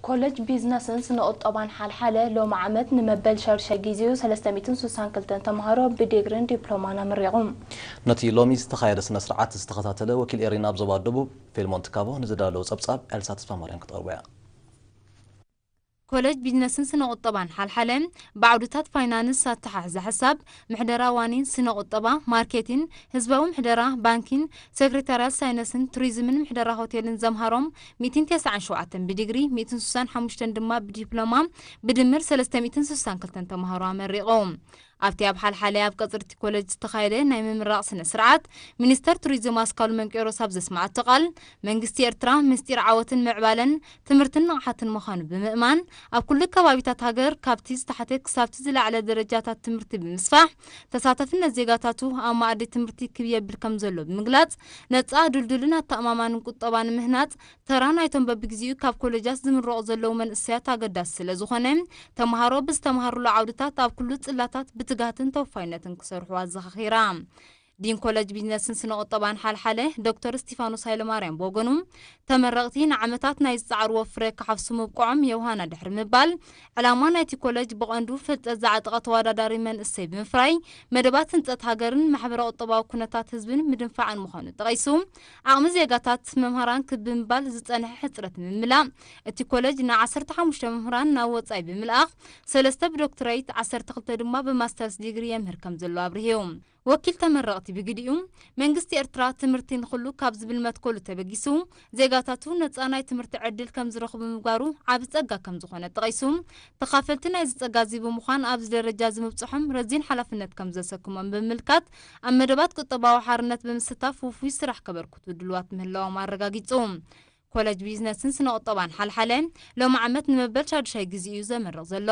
ኮለጅ ቢዝነስን ስነ ቁጠባን ሓልሓለ ሎሚ ዓመት ንመበል ሻዱሻይ ግዜኡ ሰለስተ ሚእትን ስሳን ክልተን ተምሃሮ ብዲግሪን ዲፕሎማን ኣመሪቑ። ነቲ ሎሚ ዝተኻየደ ስነ ስርዓት ዝተኸታተለ ወኪል ኤሪና ኣብ ዞባ ደቡብ ፊልሞን ትካቦ ንዝዳለዉ ጸብጻብ ኤልሳ ተስፋማርያም ክትቐርቦ እያ። ኮለጅ ቢዝነስን ስነ ቁጠባን ሓልሓለ ብዓውድታት ፋይናንስ ኣተሓሕዛ ሕሳብ፣ ምሕደራ ዋኒን ስነ ቁጠባ፣ ማርኬቲን፣ ህዝባዊ ምሕደራ፣ ባንኪን፣ ሴክሬታርያት ሳይነስን ቱሪዝምን ምሕደራ ሆቴልን ዘምሃሮም ሚእትን ተስዓን ሸውዓተን ብዲግሪ፣ ሚእትን ስሳን ሓሙሽተን ድማ ብዲፕሎማ ብድምር ሰለስተ ሚእትን ስሳን ክልተን ተምሃሮ ኣመሪቖም። ኣብቲ ኣብ ሓልሓለ ኣብ ቀጽሪ እቲ ኮለጅ ዝተኻየደ ናይ ምምራቕ ስነ ስርዓት ሚኒስተር ቱሪዝም ኣስካሉ መንቄሮስ ኣብ ዘስማዓቶ ቃል፣ መንግስቲ ኤርትራ ምስጢር ዓወትን ምዕባለን ትምህርትን ንቕሓትን ምዃኑ ብምእማን፣ ኣብ ኩሉ ከባቢታት ሃገር ካብቲ ዝተሓተ ክሳብቲ ዝለዓለ ደረጃታት ትምህርቲ ብምስፋሕ፣ ተሳታፍነት ዜጋታቱ ኣብ መኣዲ ትምህርቲ ክብ የብል ከም ዘሎ ብምግላጽ፣ ነጻ፣ ድልዱልን ኣተኣማማንን ቁጠባ ንምህናጽ ተራ ናይቶም በብግዜኡ ካብ ኮለጃት ዝምረቑ ዘለዉ መንእሰያት ኣገዳሲ ስለ ዝኾነ፣ ተምሃሮ ብዝተምሃሩሉ ዓውድታት ኣብ ኩሉ ጽላታት ብትግሃትን ተወፋይነትን ክሰርሑ ኣዘኻኺራ። ዲን ኮለጅ ቢዝነስን ስነ ቁጠባን ሓልሓለ ዶክተር እስቲፋኖስ ሃይለማርያም ብወገኑ፣ ተመረቕቲ ንዓመታት ናይ ዝጸዓርዎ ፍረ ክሓፍሱ ምብቅዖም የውሃና ድሕሪ ምባል፣ ዕላማ ናይቲ ኮለጅ ብቐንዱ ፍልጠት ዝዓጠቐ ተወዳዳሪ መንእሰይ ብምፍራይ፣ መደባት ህንጸት ሃገርን ማሕበረ ቁጠባዊ ኩነታት ህዝብን ምድንፋዕን ምዃኑ ጠቒሱ፣ ዓቕሚ ዜጋታት መምሃራን ክብ ብምባል ዝጸንሐ ሕጽረት ንምምላእ፣ እቲ ኮለጅ ንዓሰርተ ሓሙሽተ መምህራን ናብ ወጻኢ ብምልኣኽ፣ ሰለስተ ብዶክትሬት፣ ዓሰርተ ክልተ ድማ ብማስተርስ ዲግሪ የምህር ከም ዘሎ ኣብሪሁ። ወኪል ተመረቕቲ ብግዲኡ፣ መንግስቲ ኤርትራ ትምህርቲ ንኹሉ ካብ ዝብል መትከሉ ተበጊሱ፣ ዜጋታቱ ነጻ ናይ ትምህርቲ ዕድል ከም ዝረኽቡ ምግባሩ ዓቢ ጸጋ ከም ዝኾነ ጠቒሱ፣ ተኻፈልቲ ናይዚ ጸጋ እዚ ብምዃን ኣብዚ ደረጃ እዚ ምብጽሖም ረዚን ሓላፍነት ከም ዘሰክሞም ብምምልካት፣ ኣብ መደባት ቁጠባዊ ሓርነት ብምስታፍ ውፉይ ስራሕ ከበርክቱ ድልዋት ምህላዎም ኣረጋጊጹ። ኮለጅ ቢዝነስን ስነ ቁጠባን ሓልሓለ ሎሚ ዓመት ንመበል ሻዱሻይ ግዜ እዩ ዘመርቕ ዘሎ።